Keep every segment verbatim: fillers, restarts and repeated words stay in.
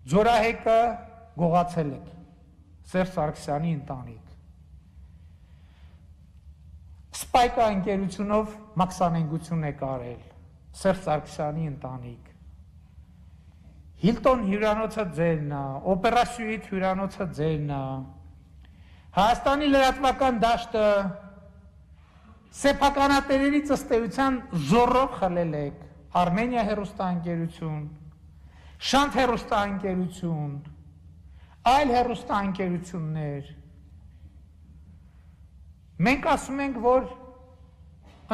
Ձորահեկը գողացել եք, Սերժ Սարգսյանի ընտանիք։ Սպայկա ընկերությունով մաքսանենգություն եք արել, Սերժ Սարգսյանի ընտանիք։ Հիլտոն հյուրանոցը ձերն է, Օպերա Սյուիթ հյուրանոցը ձերն է, Հայաստանի լրատվական դաշտը սեփականատերերի ըստեյության զորով խլել եք, Արմենիա հեռուստաընկերություն, Շանթ հեռուստաընկերություն, այլ հեռուստաընկերություններ։ Մենք ասում ենք, որ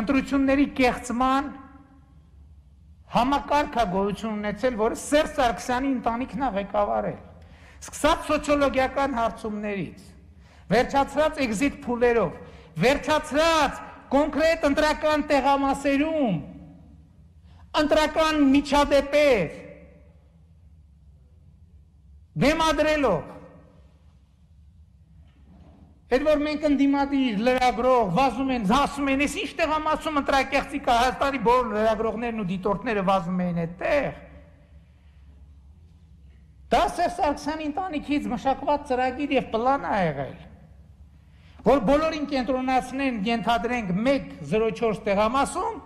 ընտրությունների կեղծման համակարգ է գոյություն ունեցել, որը Սերժ Սարգսյանի ընտանիքն է ղեկավարել։ Սկսած սոցիոլոգիական հարցումներից, վերջացրած էքզիտ փուլերով, վերջացրած կոնկրետ ընտրական տեղամասերում, ընտրական միջադեպեր բեմադրելով, այդ որ մենք ընդդիմադիր լրագրող վազում են, ասում են, ես ինչ տեղամասում ընտրակեղծիկ է, Հայաստանի բոլոր լրագրողներն ու դիտորդները վազում են այդտեղ։ Դա Սերժ Սարգսյանի ընտանիքից մշակված ծրագիր եւ պլան է եղել, որ բոլորին կենտրոնացնեն, ենթադրենք մեկ զրո չորս տեղամասում,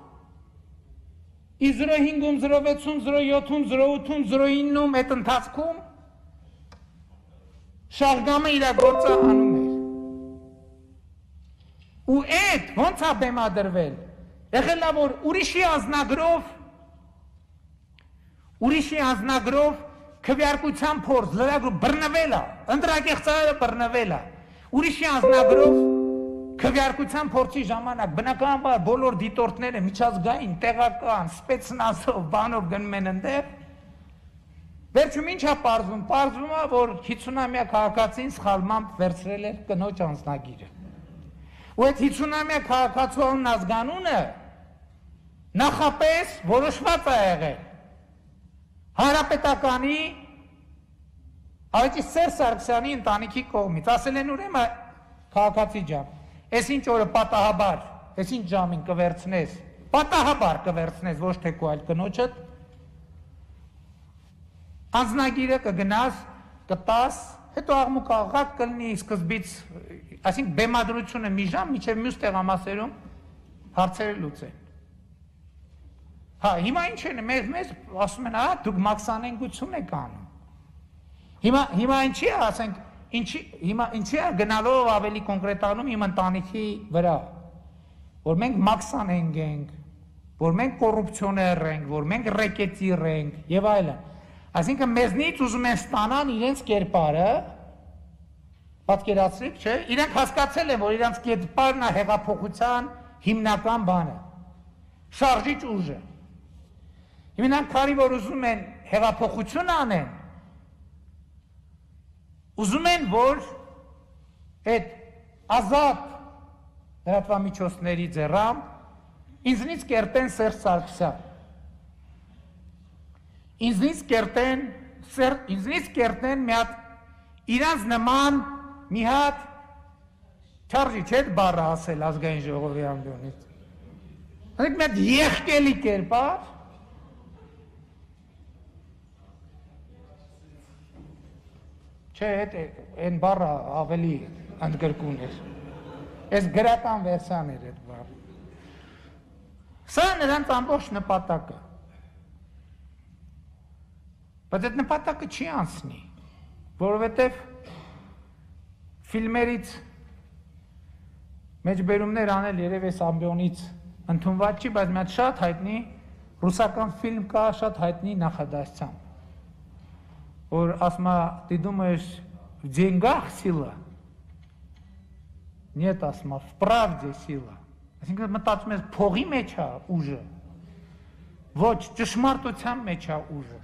ի զրո հինգում, զրո վեցում, զրո յոթում, զրո ութում, զրո իննում այդ ընթացքում շահգամը իր գործը անում էր։ Ու այդ ոնց է բեմադրվել, եղել է, որ ուրիշի անձնագրով, ուրիշի անձնագրով քվեարկության փորձ, լրագրող բռնվել է, ընտրակեղծարանը բռնվել է, ուրիշի անձնագրով քվեարկության փորձի ժամանակ բնականաբար բոլոր դիտորդները միջազգային, տեղական, սպեցնազով, բանով գնում են ընդեղ, վերջում ինչ է պարզվում, պարզվում է, որ հիսունամյա քաղաքացին սխալմամբ վերցրել էր կնոջ անձնագիրը։ Ու այդ հիսունամյա քաղաքացու ազգանունը նախապես որոշված է եղել Հանրապետականի Այդի Սերժ Սարգսյանի ընտանիքի կողմից, ասել են ուրեմն քաղաքացի ջան, այս ինչ օրը պատահաբար, այս ինչ ժամին կվերցնես, պատահաբար կվերցնես, ոչ թե քո այլ կնոջդ, անձնագիրը կգնաս, կտաս, հետո աղմուկ աղաղակ կլինի սկզբից, այսինքն բեմադրությունը մի ժամ, մինչև մյուս տեղամասերում հարցերը լուծեն։ Հա, հիմա ինչ են, մեզ մեզ ասում են, ահա դուք մաքսանենգություն եք անում։ Հիմա հիմա ինչի է, ասենք, ինչի հիմա ինչի է գնալով ավելի կոնկրետանում իմ ընտանիքի վրա, որ մենք մաքսանենք ենք, որ մենք կոռուպցիոներ ենք, որ մենք ռեկետիր ենք եւ այլն։ Այսինքն մեզնից ուզում են ստանան իրենց կերպարը, պատկերացրիք, չէ՞, իրենք հասկացել են, որ իրենց կերպարն է հեղափոխության հիմնական բանը, շարժիչ ուժը։ Իրանք քանի որ ուզում են հեղափոխություն անեն, ուզում են, որ այդ ազատ լրատվամիջոցների ձեռամբ ինձնից կերտեն Սերժ Սարգսյան, ինձնից կերտեն, ինձնից կերտեն մի հատ իրանց նման մի հատ չարժի չէ բառը ասել ազգային ժողովի ամբիոնից, ասենք մի հատ եղկելի կերպար, չէ, այն բառը ավելի ընդգրկուն էր, այս գրական վերսան էր այդ բառը, սա նրանց ամբողջ նպատակը, բայց այդ նպատակը չի անցնի, որովհետև ֆիլմերից մեջբերումներ անել երև այս ամբիոնից ընդունված չի, բայց մի հատ շատ հայտնի ռուսական ֆիլմ կա, շատ հայտնի նախադասությամբ, որ ասում է, ты думаешь, в деньгах сила? Нет, ասում է, в правде сила. Այսինքն մտածում ես փողի մեջ է ուժը, ոչ ճշմարտության մեջ է ուժը։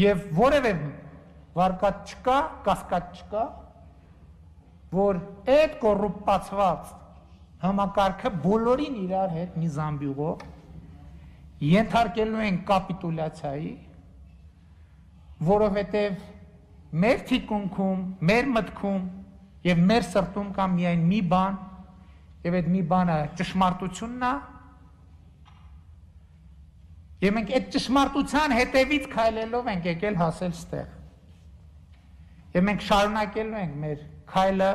Եվ որևէ վարկած չկա, կասկած չկա, որ այդ կոռուպացված համակարգը բոլորին իրար հետ մի զամբյուղով ենթարկելու են կապիտուլյացիայի, որովհետև մեր թիկունքում, մեր մտքում եւ մեր սրտում կա միայն մի բան, եւ այդ մի բանը ճշմարտությունն է, Եվ մենք այդ ճշմարտության հետևից քայլելով ենք եկել հասել ստեղ։ Եվ մենք շարունակելու ենք մեր քայլը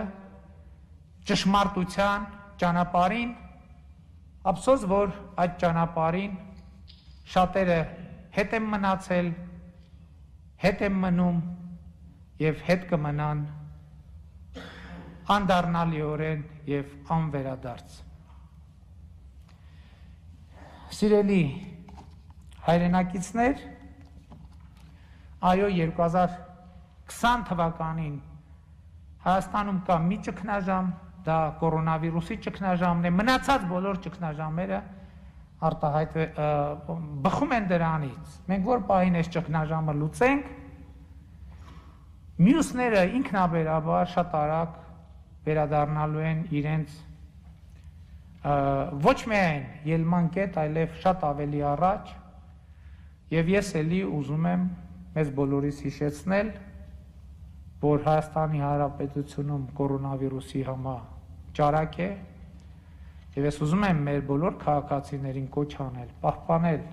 ճշմարտության ճանապարհին, ափսոս որ այդ ճանապարհին շատերը հետ են մնացել, հետ են մնում եւ հետ կմնան անդառնալիորեն եւ անվերադարձ։ Սիրելի հայրենակիցներ, այո, երկու հազար քսան թվականին Հայաստանում կա մի ճգնաժամ, դա կորոնավիրուսի ճգնաժամն է, մնացած բոլոր ճգնաժամերը արտահայտ բխում են դրանից։ Մենք որ պահին այս ճգնաժամը լուծենք, մյուսները ինքնաբերաբար շատ արագ վերադառնալու են իրենց ոչ միայն ելման կետ, այլև շատ ավելի առաջ, եւ ես էլի ուզում եմ մեզ բոլորիս հիշեցնել, որ Հայաստանի Հանրապետությունում կորոնավիրուսի համաճարակ է, եւ ես ուզում եմ մեր բոլոր քաղաքացիներին կոչ անել, պահպանել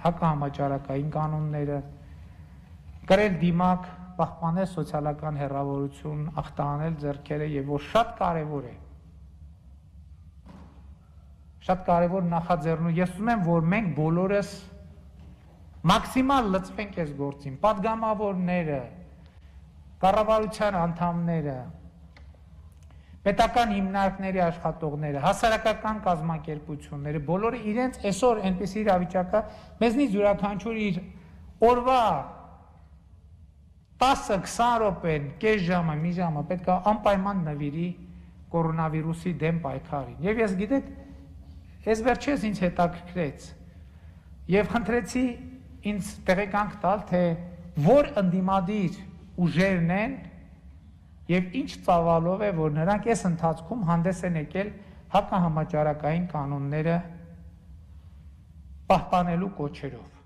հակահամաճարակային կանոնները, կրել դիմակ, պահպանել սոցիալական հեռավորություն, ախտահանել ձեռքերը եւ որ շատ կարեւոր է։ Շատ կարևոր նախաձեռնու, ես ուզում եմ, որ մենք բոլորս մաքսիմալ լծվենք այս գործին, պատգամավորները, կառավարության անդամները, պետական հիմնարկների աշխատողները, հասարակական կազմակերպությունները, բոլորը իրենց այսօր այնպիսի իրավիճակա, մեզնից յուրաքանչյուր իր օրվա տասը քսան րոպեն, կես ժամը, մի ժամը պետք է անպայման նվիրի կորոնավիրուսի դեմ պայքարին։ Եվ ես գիտեք, ես վերջերս ինձ հետաքրքրեց եւ խնդրեցի ինձ տեղեկանք տալ, թե որ ընդդիմադիր ուժերն են եւ ինչ ծավալով է, որ նրանք այս ընթացքում հանդես են եկել հակահամաճարակային կանոնները պահպանելու կոչերով։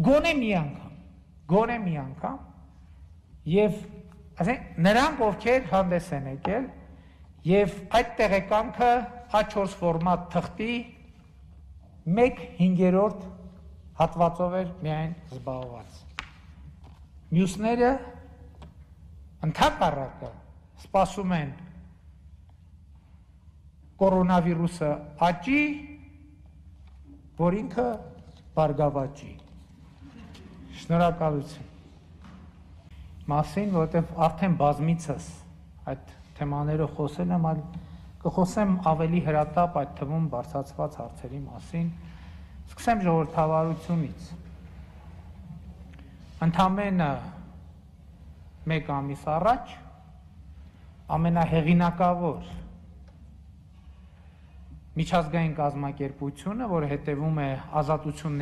Գոնե մի անգամ, գոնե մի անգամ եւ ասենք նրանք ովքեր հանդես են եկել եւ այդ տեղեկանքը Ա չորս ֆորմատ թղթի մեկ հինգերորդ հատվածով էր միայն զբաղված։ Մյուսները ընդհակառակը սպասում են կորոնավիրուսը աճի, որ ինքը բարգավաճի։ Շնորհակալություն։ Մասին, որովհետև արդեն բազմիցս այդ թեմաներով խոսել եմ, այլ կխոսեմ ավելի հրատապ այդ թվում բարձրացված հարցերի մասին, սկսեմ ժողովրդավարությունից։ Ընդամենը մեկ ամիս առաջ ամենահեղինակավոր միջազգային կազմակերպությունը, որը հետևում է ազատություն